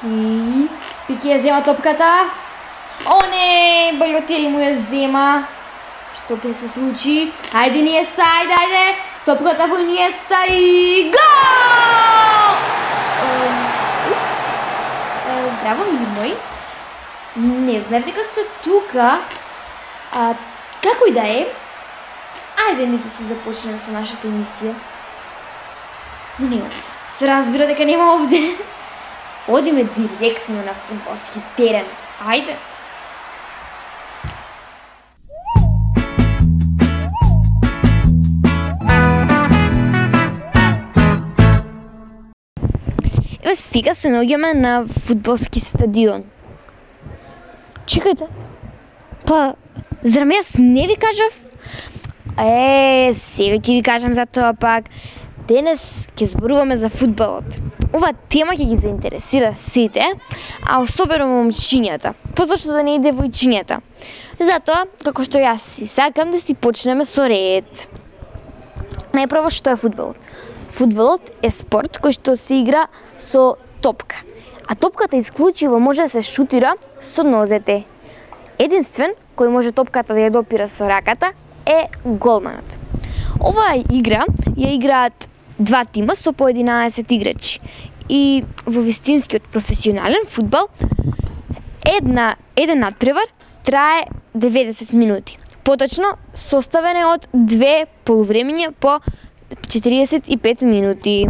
И Пики ја зема топката. О не, Балотели му ја зема. Што ќе се случи? Ајде Иниеста, ајде. Топката во Иниеста и гол! Упс. Здраво, мили мој. Не знаев дека сте тука. Како и да е, ајде нека се започнеме со нашата емисија. Но не овде. Се разбира дека нема овде. Одиме директно на фудбалски терен. Ајде. Еве сега се наоѓаме на фудбалски стадион. Чекајте. Па, зарем јас не ви кажав? Сега ќе ви кажам за тоа пак. Денес ќе зборуваме за фудбалот. Ова тема ќе ги заинтересира сите, а особено момчињата. Позошто да не и девојчињата. Затоа, како што јас си сакам да си почнеме со ред. Најпрво, што е фудбалот? Фудбалот е спорт кој што се игра со топка. А топката исклучиво може да се шутира со нозете. Единствен кој може топката да ја допира со раката е голманот. Оваа игра ја играат два тима со по 11 играчи. И во вистинскиот професионален фудбал еден надпревар трае 90 минути. Поточно составен е од две полувремиња по 45 минути.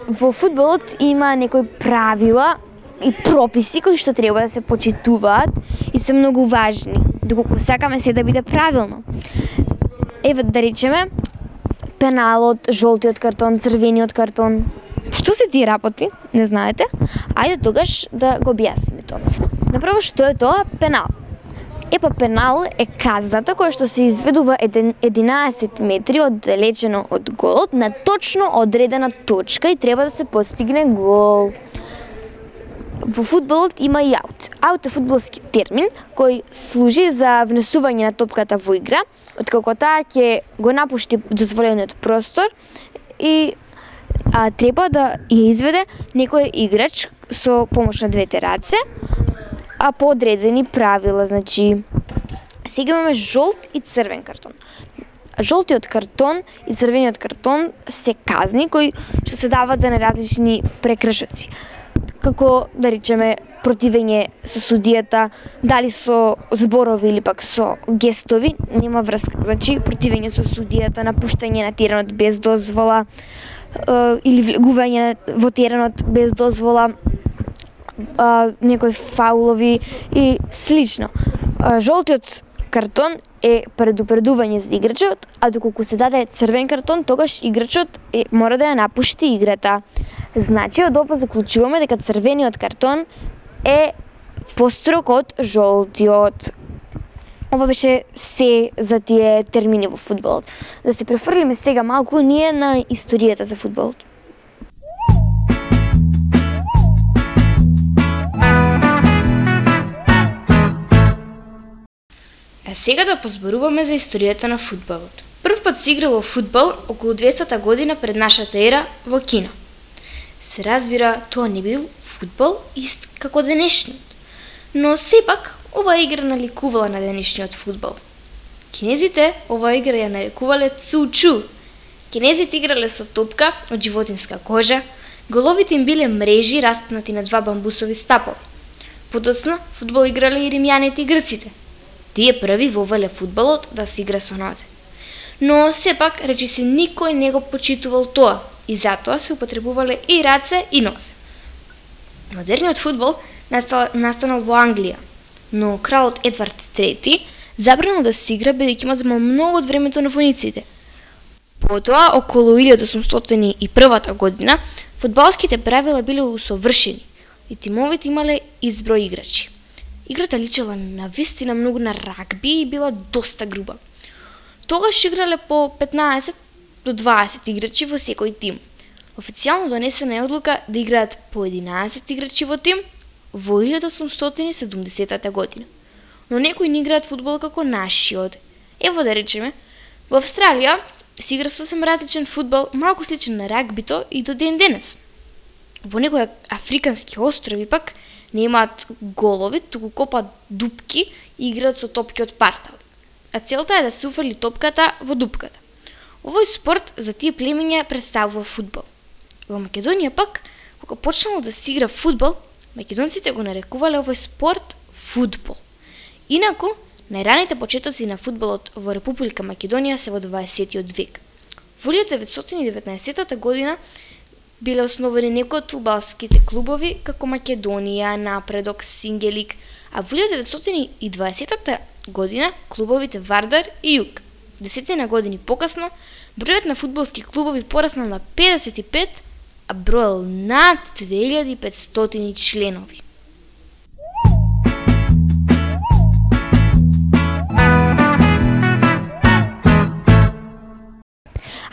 Во фудбалот има некои правила и прописи кои што треба да се почитуваат и се многу важни, доколку сакаме се да биде правилно. Еве да речеме пеналот, жолтиот картон, црвениот картон. Што се тие работи? Не знаете? Ајде тогаш да го објасниме тоа. Направо што е тоа пенал? Пенал е казната која што се изведува 11 метри оддалечено од голот на точно одредена точка и треба да се постигне гол. Во фудбалот има и аут. Аут е фудбалски термин кој служи за внесување на топката во игра, откако таа ќе го напушти дозволениот простор и треба да ја изведе некој играч со помош на двете раце, а по одредени правила, значи сега имаме жолт и црвен картон. Жолтиот картон и црвениот картон се казни кои што се дават за неразлични прекршоци. Како да речеме противење со судијата, дали со зборови или пак со гестови, нема врска. Значи противење со судијата, напуштање на теренот без дозвола или влегување во теренот без дозвола, некои фаулови и слично. Жолтиот картон е предупредување за играчот, а доколку се даде црвен картон, тогаш играчот мора да ја напушти играта. Значи, од ова заклучуваме дека црвениот картон е построг од жолтиот. Ова беше се за тие термини во фудбалот. Да се префрлиме сега малку ние на историјата за фудбалот. Сега да позборуваме за историјата на фудбалот. Прв пат се играло фудбал околу 200 година пред нашата ера во Кина. Се разбира, тоа не бил фудбал ист како денешниот. Но сепак, оваа игра наликувала на денешниот фудбал. Кинезите оваа игра ја нарекувале цу-чу. Кинезите играле со топка од животинска кожа, головите им биле мрежи распнати на два бамбусови стапови. Подоцна, фудбал играле и римјаните и грците. Тие први вовеле фудбалот да се игра со нозе. Но сепак, речиси, никој не го почитувал тоа и затоа се употребувале и раце и нозе. Модерниот фудбал настанал во Англија, но кралот Едвард III забранил да се игра бидејќи има земал многу од времето на војниците. Потоа, околу 1801 година, фудбалските правила биле усовршени и тимовите имале изброј играчи. Играта личела на вистина многу на рагби и била доста груба. Тогаш играле по 15 до 20 играчи во секој тим. Официјално донесена е одлука да играат по 11 играчи во тим во 1870 година. Но некои не играат фудбал како нашиот. Ево да речеме, во Австралија се игра сосем различен фудбал, малку сличен на рагбито и до ден денес. Во некои африкански острови пак немаат голови, туку копаат дупки и играат со топки од партал. А целта е да се уфрли топката во дупката. Овој спорт за тие племиња представува фудбал. Во Македонија пак, кога почнало да се игра фудбал, македонците го нарекувале овој спорт фудбал. Инаку, најраните почетоци на фудбалот во Република Македонија се во 20 век. Во 1919 година биле основани некои од фудбалските клубови како Македонија, Напредок, Сингелик, а во 1920 година клубовите Вардар и Југ. 10 години покасно, бројот на фудбалски клубови пораснал на 55, а броел над 2500 членови.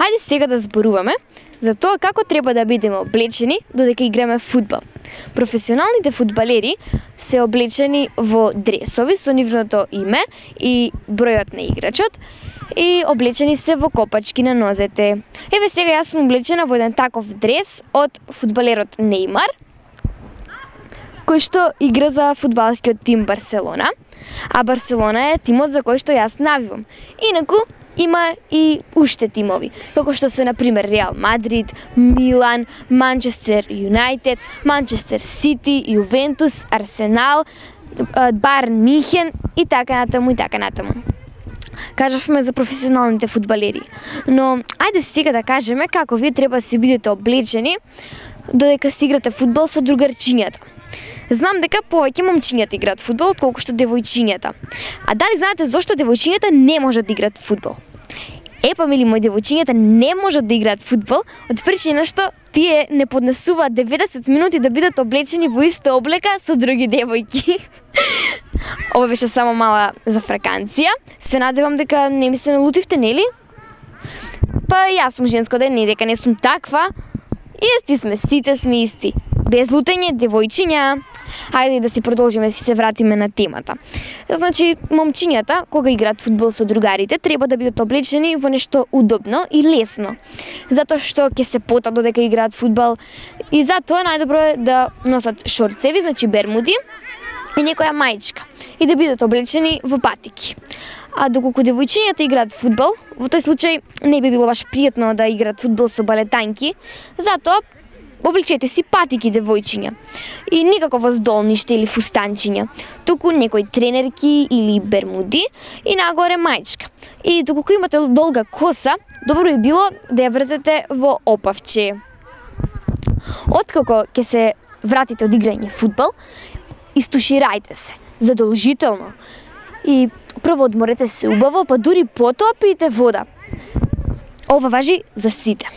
Ајде сега да зборуваме за тоа како треба да бидеме облечени додека играме фудбал. Професионалните фудбалери се облечени во дресови со нивното име и бројот на играчот и облечени се во копачки на нозете. Еве сега јас сум облечена во еден таков дрес од фудбалерот Нејмар, кој што игра за фудбалскиот тим Барселона, а Барселона е тимот за кој што јас навивам. Инаку има и уште тимови, како што се, например, Реал Мадрид, Милан, Манчестер Юнајтед, Манчестер Сити, Јувентус, Арсенал, Баерн Мюнхен и така натаму и така натаму. Кажавме за професионалните фудбалери, но ајде сега да кажеме како вие треба да се бидете облечени додека се играте фудбал со другарчињата. Знам дека повеќе момчињата играат фудбал отколку што девојчињата. А дали знаете зошто девојчињата не можат да играат фудбал? Епа, мили мои, девојчињата не можат да играат фудбал од причина што тие не поднесуваат 90 минути да бидат облечени во иста облека со други девојки. Ова беше само мала зафраканција. Се надевам дека не ми се налутивте, нели? Па јас сум женско да не дека не сум таква. Исти сме, сите сме исти. Без лутење, девојчиња. Хајде да си продолжиме, да се вратиме на темата. Значи, момчињата, кога играат фудбал со другарите, треба да бидат облечени во нешто удобно и лесно. Затоа што ќе се потат додека играат фудбал и затоа најдобро е да носат шорцеви, значи бермуди, и некоја маичка, и да бидат облечени во патики. А доколку девојчињата играат фудбал, во тој случај не би било баш пријатно да играат фудбал со балетанки, затоа облечете си патики, девојчиња. И никако воздолниште или фустанчиња, туку некои тренерки или бермуди и нагоре маичка. И доколку имате долга коса, добро би било да ја врзете во опавче. Откако ќе се вратите од играње фудбал, истуширајте се, задолжително. И прво одморете се убаво, па дури потоа пиете вода. Ова важи за сите.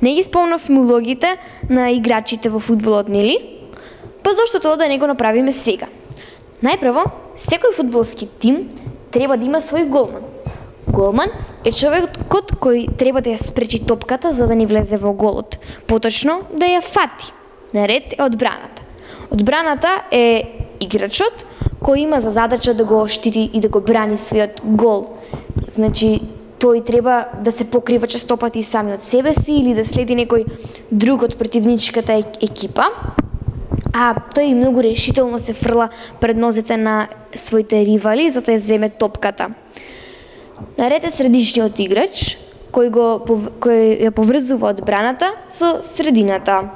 Не ги спомнавме улогите на играчите во фудбалот, нели? Па зошто тоа да не го направиме сега? Најпрво, секој фудбалски тим треба да има свој голман. Голман е човекот кој треба да ја спречи топката за да не влезе во голот, поточно да ја фати. Наред е одбраната. Одбраната е играчот кој има за задача да го штити и да го брани својот гол. Значи, тој треба да се покрива честопати и сами од себе си или да следи некој друг од противничката екипа. А тој многу решително се фрла пред нозете на своите ривали за да ја земе топката. Наред е средишниот играч кој ја поврзува одбраната со средината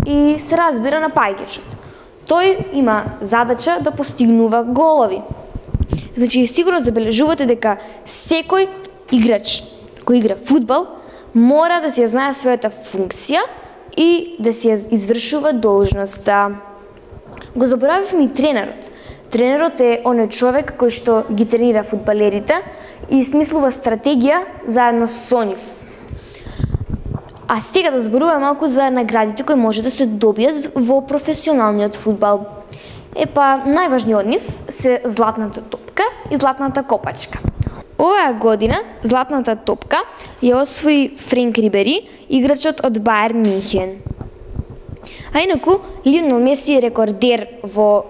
и се разбира на паѓачот. Тој има задача да постигнува голови. Значи, сигурно забележувате дека секој играч кој игра фудбал мора да си ја знае својата функција и да си ја извршува должноста. Го заборавивме и тренерот. Тренерот е оној човек кој што ги тренира фудбалерите и смислува стратегија заедно со нив. А сега да зборуваме малку за наградите кои може да се добијат во професионалниот фудбал. Најважни од нив се златната топка и златната копачка. Оваа година златната топка ја освои Френк Рибери, играчот од Бајерн Мюнхен. А инаку, Лионел Меси е рекордер во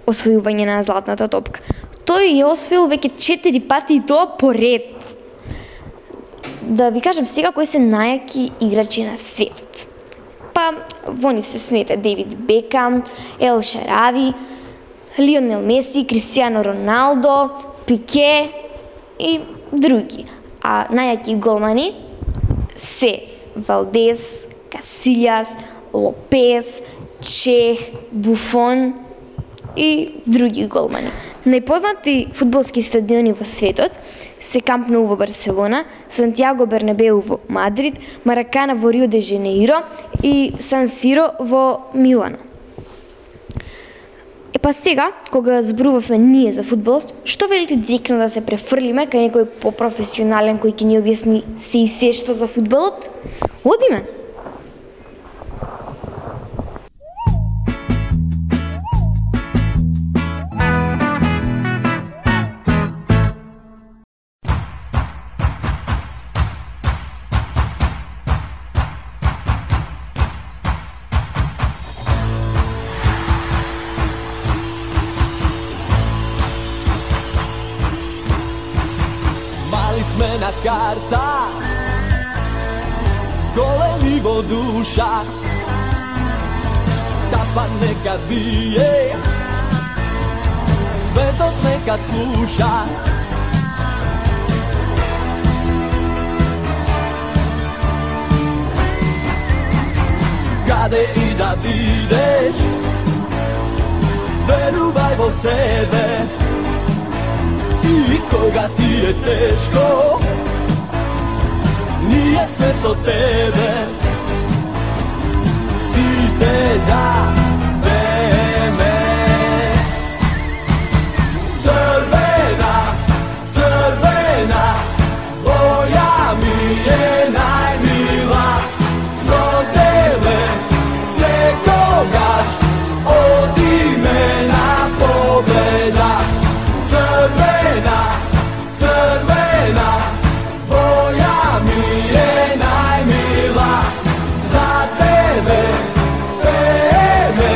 освојување на златната топка. Тој ја освоил веќе 4 пати и тоа поред. Да ви кажам сега кои се најаки играчи на светот. Во нив се смета Дейвид Бекам, Ел Шарави, Лионел Меси, Кристијано Роналдо, Пике и други. А најаки голмани се Валдес, Касилјас, Лопес, Чех, Буфон и други голмани. Најпознати фудбалски стадиони во светот се Камп Ноу во Барселона, Сантјаго Бернабеу во Мадрид, Маракана во Рио де Женеиро и Сан Сиро во Милано. Сега, кога зборувавме ние за фудбалот, што велите директно да се префрлиме кај некој попрофесионален кој ќе ни објасни се и се што за фудбалот? Одиме! На карта, големи во душа, капа нека бие, светот нека слуша. Каде и да бидеш, верувај во себе. И кога ти е тешко, ние сме со тебе. Сите да пееме. Црвена, црвена, боја ми е најмила. Со тебе секогаш одиме на победа. Црвена, црвена, боја ми е најмила. За тебе пееме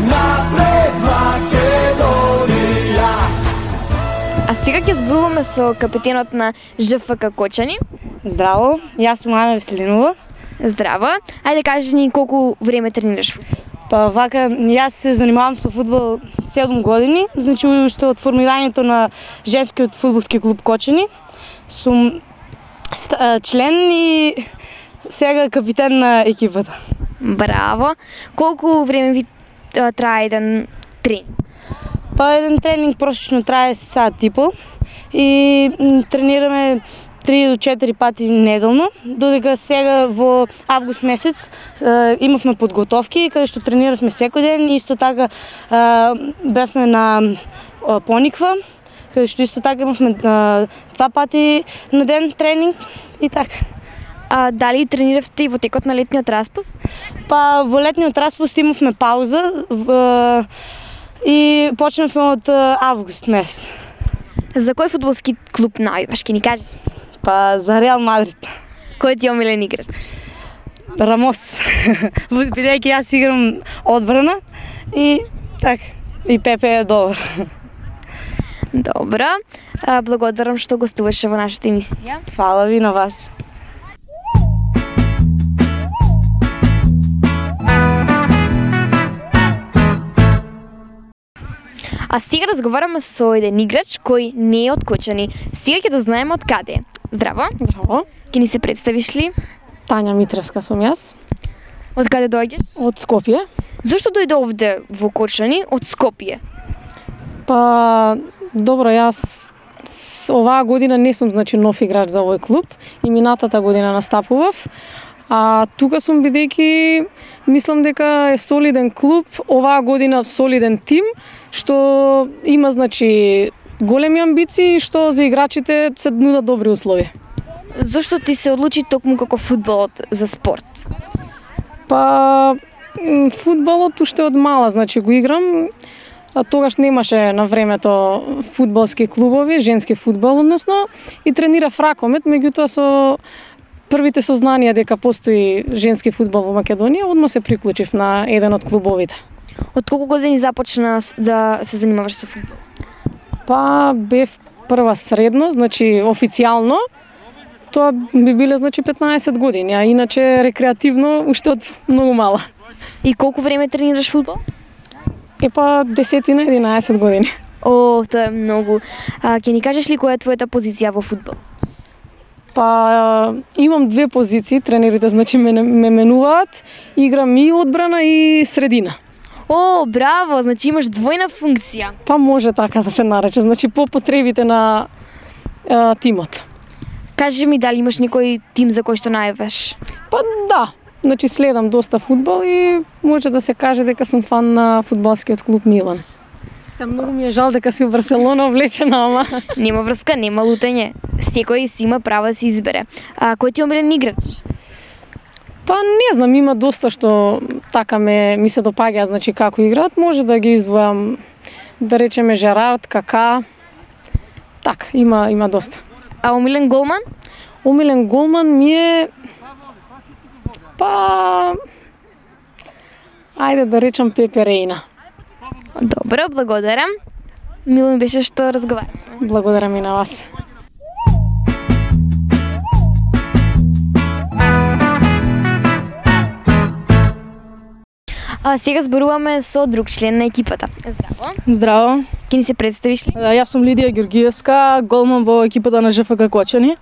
напред Македонија. А сега ќе зборуваме со капитенот на ЖФК Кочани. Здраво, јас сум Ана Веселинова. Здраво. Ајде кажи ни колку време тренираш? Вака, јас се занимавам со фудбал 7 години, значи уште од формирањето на женскиот фудбалски клуб Кочани. Сум член и сега капитен на екипата. Браво! Колку време ви трае еден тренинг? Еден тренинг prosечно трае сат и пол и тренираме 3 до 4 пати неделно, додека сега во август месец имавме подготовки каде што трениравме секој ден и исто така бевме на Пониква, каде што исто така имавме 2 пати на ден тренинг и така. А дали трениравте и во текот на летниот распуст? Во летниот распуст имавме пауза и почнавме од август месец. За кој фудбалски клуб навиваш, ќе ни кажеш? За Реал Мадрид. Кој ти е омилен играч? Рамос. Бидејќи јас играм одбрана и така. И Пепе е добар. Добро. Благодарам што гостуваше во нашата емисија. Фала ви на вас. А сега разговараме со еден играч кој не е од Кочани. Сега ќе дознаеме од каде е. Здраво. Здраво. Ќе ни се представиш ли? Тања Митревска сум јас, Од каде доаѓаш? од Скопје. Зошто дојде овде во Кочани од Скопје? Па, добро, јас оваа година не сум нов играч за овој клуб и минатата година настапував. А тука сум бидејќи мислам дека е солиден клуб, оваа година солиден тим, што има големи амбиции, што за играчите се нудат добри услови. Зошто ти се одлучи токму како фудбалот за спорт? Па фудбалот уште од мала го играм. А тогаш немаше на времето фудбалски клубови, женски фудбал односно, и тренирав ракомет, меѓутоа со првите сознанија дека постои женски фудбал во Македонија, одма се приклучив на еден од клубовите. Од колку години започна да се занимаваш со фудбал? Па бев прва средно, официјално, тоа би биле 15 години, а иначе рекреативно уште од многу мала. И колку време тренираш фудбал? Па 10-11 години. О, тоа е многу. Ќе ни кажеш ли која е твојата позиција во фудбал? Па имам две позиции, тренерите ме менуваат, играм и одбрана и средина. О, браво, имаш двојна функција. Па може така да се нарече, по потребите на тимот. Кажи ми дали имаш некој тим за кој што најаваш? Па да, следам доста фудбал и може да се каже дека сум фан на фудбалскиот клуб Милан. Многу ми е жал дека си во Барселона облечена, ама Нема врска, нема лутање. Секој си има право да се избере. Кој ти е омилен играч? Па не знам, има доста што така ми се допаѓа, како играат, може да ги издвојам, да речеме Жерард, Кака. Така, има доста. А омилен голман? Омилен голман ми е ајде да речам Пепе Рејна. Добро, благодарам. Мило ми беше што разговараме. Благодарам и на вас. Сега зборуваме со друг член на екипата. Здраво. Здраво. Ќе ни се представиш ли? Јас сум Лидија Ѓоргиевска, голман во екипата на ЖФК Кочани.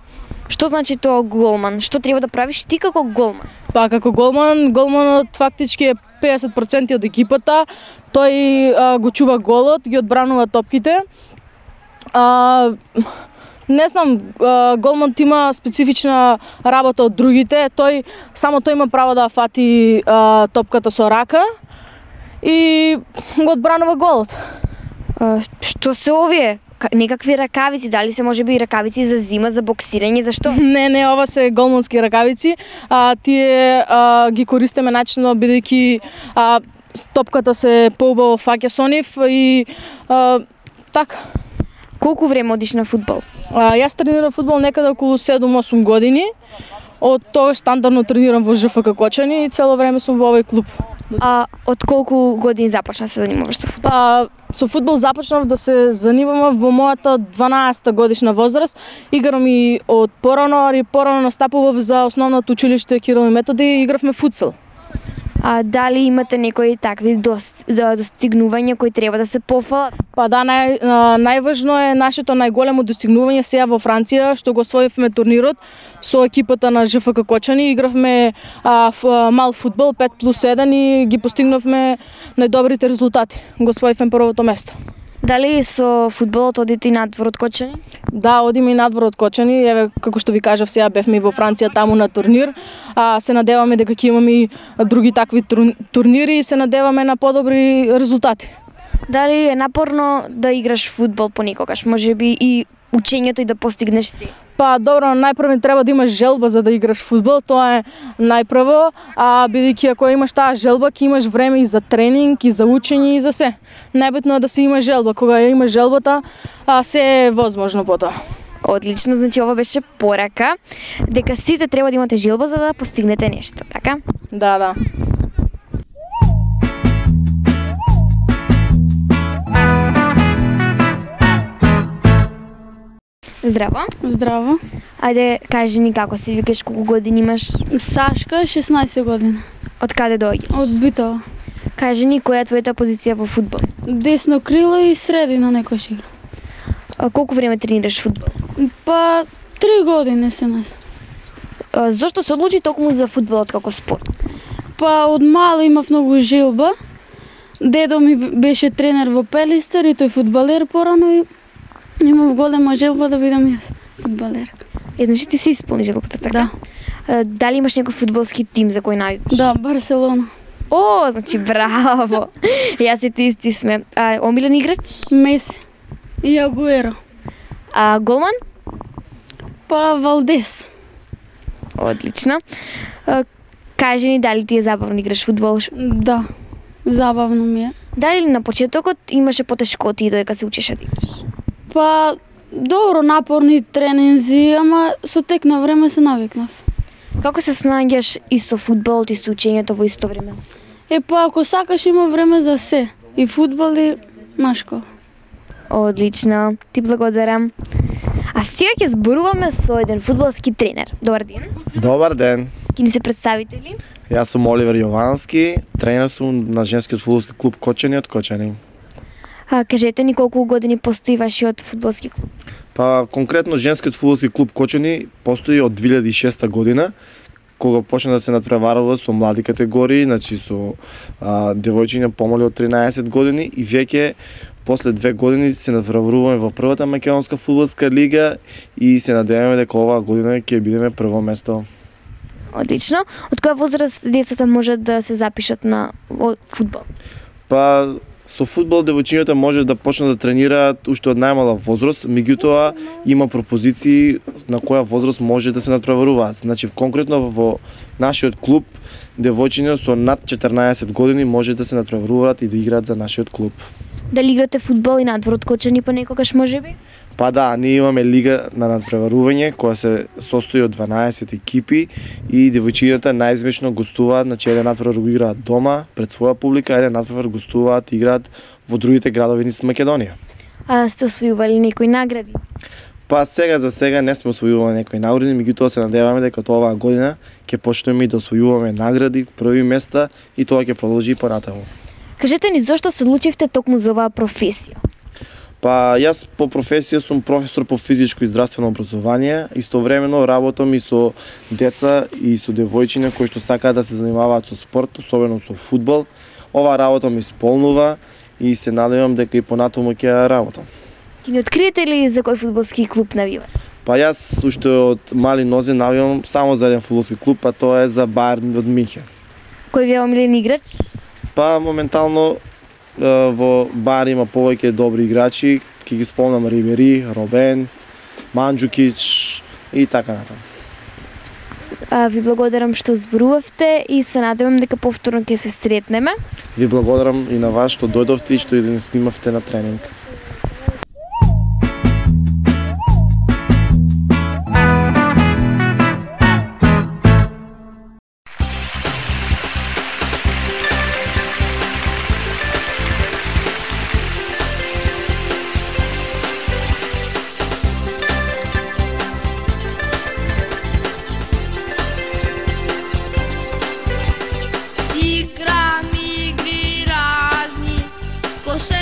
Што значи тоа голман? Што треба да правиш ти како голман? Па како голманот фактички е 50% од екипата. Тој го чува голот, ги одбранува топките. Не знам, голманот има специфична работа од другите. Само тој има право да фати топката со рака и го одбранува голот. Што се овие? Некакви ракавици, дали се можеби и ракавици за зима, за боксирање, зашто? Не, ова се голмански ракавици. Тие ги користиме начинно бидејќи топката се поубаво фаќа со нив и така. Колку време одиш на фудбал? Јас тренирам фудбал некаде околу 7-8 години. Од тогаш стандардно тренирам во ЖФК Кочани и цело време сум во овој клуб. Од колку години започна се занимаваш со фудбал? Со фудбал започнав да се занимавам во мојата 12-та годишна возраст. Играм и од порано настапував за основното училиште Кирил и Методи и игравме футсал. Дали имате некои такви достигнувања кои треба да се пофалат? Па да, најважно е нашето најголемо достигнување сега во Франција, што го освоивме турнирот со екипата на ЖФК Кочани. Игравме мал фудбал 5+1 и ги постигнавме најдобрите резултати. Го освоивме првото место. Дали со фудбалот одите и надвор од Кочани? Да, одиме и надвор од Кочани. Еве, како што ви кажав, сега бевме и во Франција таму на турнир. Се надеваме дека ќе имаме и други такви турнири и се надеваме на подобри резултати. Дали е напорно да играш фудбал понекогаш? Можеби и учењето и да постигнеш си? Па добро, најпрво треба да имаш желба за да играш фудбал, тоа е најпрво, бидејќи ако имаш таа желба, ќе имаш време и за тренинг, и за учење, и за се. Најбитно е да се има желба, кога ја имаш желбата, се е возможно потоа. Одлично, значи ова беше порака дека сите треба да имате желба за да постигнете нешто, така? Да. Здраво. Здраво. Ајде, кажи ни како се викаш, колку години имаш, Сашка, 16 години. од каде доаѓаш? Од Битола. Кажи ни која е твојата позиција во фудбал? Десно крило и средина некој игра. Колку време тренираш фудбал? Па 3 години се нас. Зошто се одлучи токму за фудбалот како спорт? Па од мало имав многу желба. Дедо ми беше тренер во Пелистер и тој фудбалер порано и имав голема желба да бидам јас фудбалерка. Значи ти си исполни желбата, така? Да. Дали имаш некој фудбалски тим за кој најдеш? Да, Барселона. О, значи браво. Јас и ти исти сме. Омилен играч? Меси. И Агуеро. Голман? Па Валдес. Одлично. Кажи ни дали ти е забавно играш фудбал? Да. Забавно ми е. Дали на почетокот имаше потешкоти додека се учеше да играш? Па добро, напорни тренинзи, ама со тек на време се навикнав. Како се снаѓаш и со фудбалот и со учењето во исто време? Па ако сакаш има време за се. И фудбал и на школа. Одлично, ти благодарам. А сега ќе зборуваме со еден фудбалски тренер. Добар ден. Добар ден. Ќе ни се представите ли? Јас сум Оливер Јовановски, тренер сум на женскиот фудбалски клуб Кочани од Кочани. Кажете ни колку години постои вашиот фудбалски клуб? Па конкретно женскиот фудбалски клуб Кочани постои од 2006 година, кога почна да се надпреварува со млади категории, значи со девојчиња помали од 13 години и веќе после 2 години се надпреваруваме во првата македонска фудбалска лига и се надеваме дека оваа година ќе бидеме прво место. Одлично. Од која возраст децата можат да се запишат на фудбал? Па со фудбал девојчињата може да почнат да тренираат уште од најмала возраст, меѓутоа има пропозиции на која возраст може да се надпреваруваат. Значи конкретно во нашиот клуб девојчиња со над 14 години може да се надпреваруваат и да играат за нашиот клуб. Дали играте фудбал и надвор од Кочани понекогаш можеби? Па да, ние имаме лига на надпреварување која се состои од 12 екипи и девојчињата најизмешно гостуваат, значи еден надпревар го играат дома пред своја публика, еден надпревар гостуваат и играат во другите градови низ Македонија. Сте освојували некои награди? Па за сега не сме освојували некои награди, меѓутоа се надеваме дека оваа година ќе почнеме и да освојуваме награди, први места и тоа ќе продолжи и понатаму. Кажете ни зошто се одлучивте токму за оваа професија? Па јас по професија сум професор по физичко и здравствено образование, истовремено работам и со деца и со девојчиња кои што сакаат да се занимаваат со спорт, особено со фудбал. Оваа работа ми исполнува и се надевам дека и понатаму ќе ја работам. Ќе ни откриете ли за кој фудбалски клуб навивате? Па јас уште од мали нозе навивам само за еден фудбалски клуб, а тоа е за Баерн од Минхен. Кој ви е омилен играч? Па моментално во Бар има повеќе добри играчи, ќе ги спомнам Рибери, Робен, Манџукич и така натаму. Ви благодарам што зборувавте и се надевам дека повторно ќе се сретнеме. Ви благодарам и на вас што дојдовте и што и да не снимавте на тренинг. Igram igri razni, ko se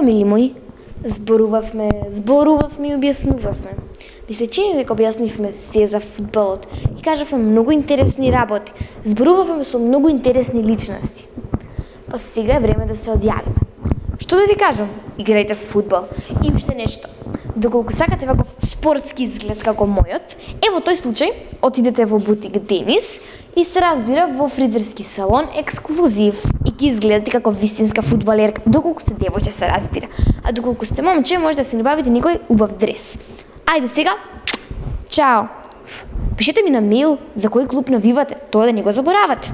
Фамили мои, зборувавме и објаснувавме. Ми се чини дека објаснивме се за фудбалот и кажавме многу интересни работи. Зборувавме со многу интересни личности. Па сега е време да се одјавиме. Што да ви кажам? Играјте фудбал. И уште нешто. Доколку сакате ваков спортски изглед како мојот, во тој случај отидете во бутик Денис и се разбира во фризерски салон ексклузив и ќе изгледате како вистинска фудбалерка, доколку сте девојче се разбира. А доколку сте момче, може да се набавите некој убав дрес. Ајде сега, чао! Пишете ми на мејл за кој клуб навивате, тоа да не го заборавате.